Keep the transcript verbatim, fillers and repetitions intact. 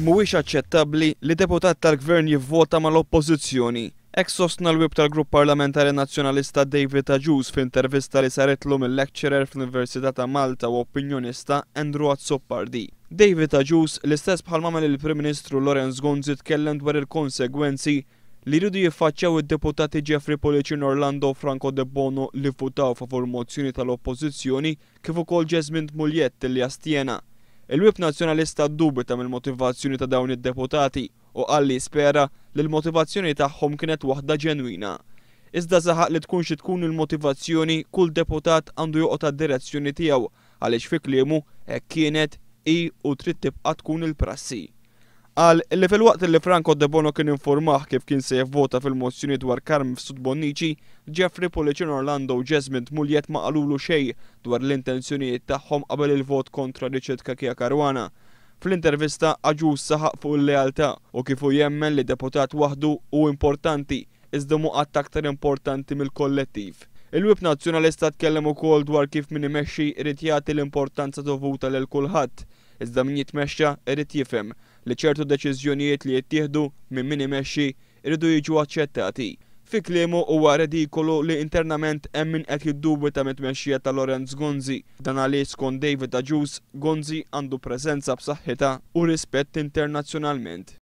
Mhuwiex aċċettabbli li deputat tal-Gvern jivvota mal-Oppożizzjoni. Hekk sostna l-Whip tal-Grupp Parlamentari Nazzjonalista David Agius f'intervista li saritlu mil-lecturer fl-Università ta' Malta u opinjonista Andrew Azzopardi. David Agius, l-istess bħal m'għamel il-Prim Ministru Lawrence Gonzi, tkellem dwar il-konsegwenzi li jridu jiffaċċjaw id-deputati Jeffrey Pullicino Orlando u Franco Debono li vvutaw favur mozzjoni tal-Oppożizzjoni kif ukoll Jesmond Mugliett li astjena. Il-Whip Nazzjonalista ddubita mill-motivazzjoni ta' dawn id-deputati u qal li jispera li l-motivazzjoni tagħhom kienet waħda ġenwina. Iżda saħaq li tkun xi tkun il-motivazzjoni, kull deputat għandu joqgħod għad-direzzjoni tiegħu għaliex fi kliemu hekk kienet, hi u trid tibqa' tkun il-prassi. Qal li filwaqt li Franco Debono kien informah kif kien se jivvota fil-mozzjoni dwar Carm Mifsud Bonnici, Jeffrey Pullicino Orlando u Jesmond Mugliett ma qalulu xejn dwar l-intenzjonijiet tagħhom qabel il-vot kontra Richard Cachia Caruana. Fl-intervista Agius saħaq fuq il-lealtà u kif hu jemmen li deputat waħdu hu importanti iżda mhu qatt aktar importanti mill-kollettiv. Il-Whip Nazzjonalista tkellem ukoll dwar kif min imexxi jrid jagħti l-importanza dovuta lil kulħadd, iżda min jitmexxa jrid jifhem li ċertu deċiżjonijiet li jittieħdu minn min imexxi jridu jiġu aċċettati. Fi kliemu huwa redikolu li internament hemm min qed jiddubita mit-tmexxija ta' Lawrence Gonzi. Dan għaliex skont David Agius, Gonzi għandu preżenza b'saħħitha u rispett internazzjonalment.